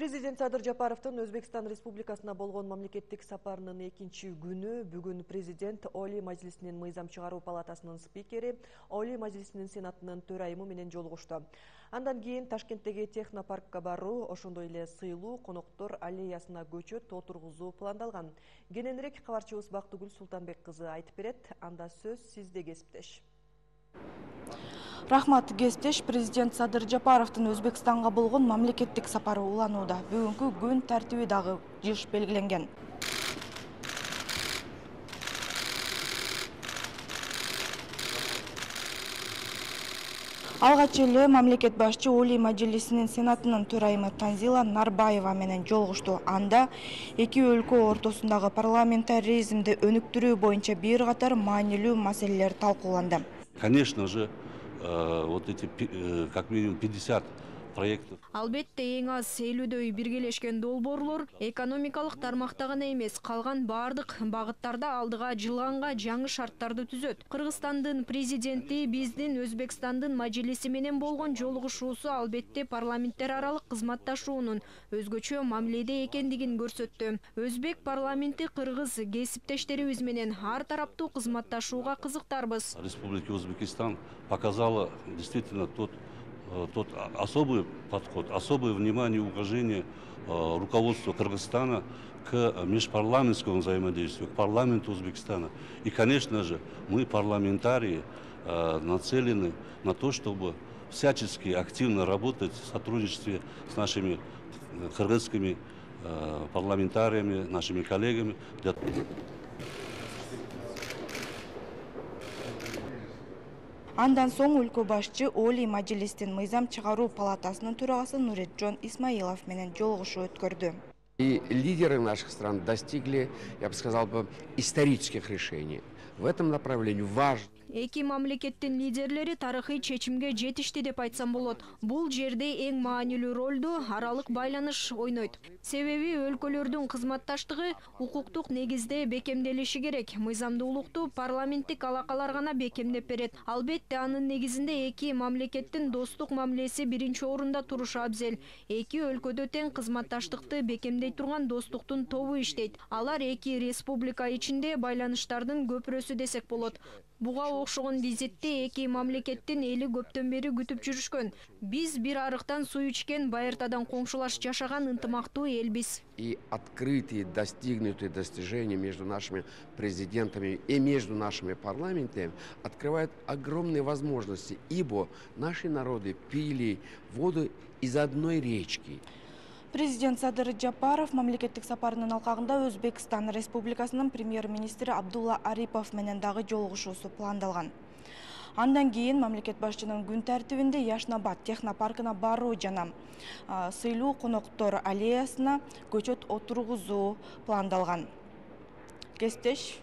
Президент Садыр Жапаровдун Өзбекстан Республикасына болгон мамлекеттик сапарынын экинчи күнү бүгүн президент Олий Мажлисинин мыйзам чыгаруу палатасынын спикери, Олий Мажлисинин сенатынын төрайымы менен жолугушту. Андан кийин Ташкенттеги технопаркка баруу, ошондой эле сыйлуу коноктор аллеясына көчөт отургузуу пландалган. Кененирээк кабарчыбыз Бактыгүл Султанбек кызы айтып берет. Анда сөз сизде, кесиптеш. Рахмат, кесиптеш. Президент Садыр Жапаровдун Өзбекстанга болгон мамлекеттик сапары уланууда. Бүгүнкү күн тартиби дагы жыш белгиленген. Алгач эле мамлекет башчы Олий Мажлисинин сенатынын төрайымы Танзила Нарбаева менен жолугушту. Анда эки өлкө ортосундагы парламентаризмди өнүктүрүү боюнча бир катар маанилүү маселелер талкууланды. Конечно же, вот эти как минимум 50 проектов. Албетте эң аз 50дөй биргелешкен долбоорлор экономикалык тармакта гана эмес, калган бардык багыттарда алдыга жылганга жаңы шарттарды түзөт. Кыргызстандын президенти биздин Өзбекстандын Мажлиси менен болгон жолугушуусу албетте парламенттер аралык кызматташуунун өзгөчө мамиледе экендигин көрсөттү. Өзбек парламенти кыргыз кесиптештерибиз менен ар тараптуу кызматташууга кызыктарбыз. Республика Узбекистан показала действительно тот особый подход, особое внимание и уважение руководства Кыргызстана к межпарламентскому взаимодействию, к парламенту Узбекистана. И, конечно же, мы, парламентарии, нацелены на то, чтобы всячески активно работать в сотрудничестве с нашими кыргызскими парламентариями, нашими коллегами. Андан соң өлкө башчы Олий Мажлистин мыйзам чыгаруу палатасынын төрагасы Нуретжон Исмаилов менен жолугушуу өткөрдү. И лидеры наших стран достигли, я бы сказал, исторических решений. В этом направлении важно. Эки мамлекеттин лидерлери тарыхый чечимге жетишти деп айтсам болот. Бул жерде эң маанилүү ролду аралык байланыш ойнойт. Себеби өлкөлөрдүн кызматташтыгы укуктук негизде бекемделиши керек. Мыйзамдуулукту парламенттик алакалар гана бекемдеп берет. Албетте анын негизинде эки мамлекеттин достук мамилеси биринчи орунда турушу абзел. Эки өлкөдө тең кызматташтыкты бекемдей турган достуктун тобу иштейт. Алар эки республика ичинде байланыштардын көпүрөсү десек болот. Буга окшогон визитти эки мамлекеттин эли көптөн бери күтүп жүрүшкөн. Биз бир арыктан суу ичкен, байыртадан коңшулаш жашаган ынтымактуу элбиз. И открытые, достигнутые достижения между нашими президентами и между нашими парламентами открывают огромные возможности, ибо наши народы пили воду из одной речки. Президент Садыр Жапаров мамлекеттик сапарынын алкагында Өзбекстан Республикасынын премьер-министри Абдулла Арипов менен дагы жолугушуусу пландалган. Андан кийин мамлекет башчынын күн тартибинде Яшнабад технопаркына баруу жана сыйлуу коноктор аллеясына көчөт отургузуу пландалган. Кесиптеш.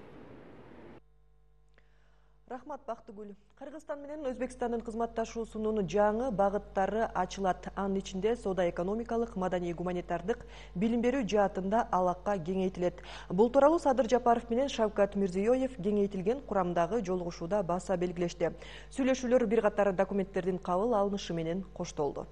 Рахмат, Бактыгүл. Кыргызстан менен Өзбекстандын кызматташуусунун жаңы багыттары ачылат. Анын ичинде соода-экономикалык, маданий-гуманитардык, билим берүү жаатында алака кеңейтилет. Бул тууралуу Садыр Жапаров менен Шавкат Мирзиёев кеңейтилген курамдагы жолугушууда баса белгилешти. Сүйлөшүүлөр бир катар документтердин кабыл алынышы менен коштолду.